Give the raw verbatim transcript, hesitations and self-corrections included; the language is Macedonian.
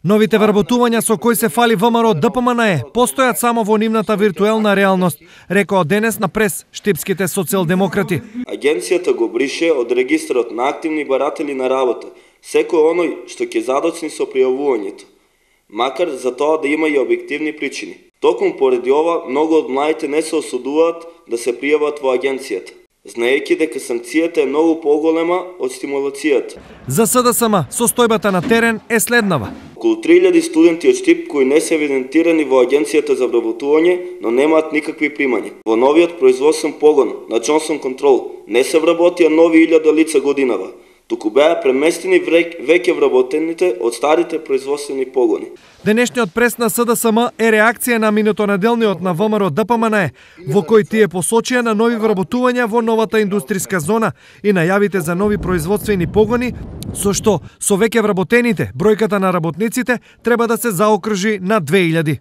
Новите вработувања со кои се фали ВМРО Д П М Н Е постојат само во нивната виртуелна реалност, рекоа денес на прес штипските социјалдемократи. Агенцијата го брише од регистарот на активни баратели на работа секој оној што ќе задоцни со пријавувањето, макар за тоа да има и објективни причини. Токму поради ова, многу од младите не се осудуваат да се пријават во агенцијата, знаејќи дека санкцијата е многу поголема од стимулацијата. За С Д С М, состојбата на терен е следнава. Околу три илјади студенти од Штип кои не се евидентирани во агенцијата за вработување, но немаат никакви примања. Во новиот производствен погон на Джонсон Контрол не се вработија нови илјада лица годинава, туку беа преместени веќе вработените од старите производствени погони. Денешниот прес на С Д С М е реакција на минутонеделниот на В М R Д П М Н Е, во кој тие посочија на нови вработувања во новата индустријска зона и најавите за нови производствени погони, со што со веќе вработените бројката на работниците треба да се заокружи на две илјади.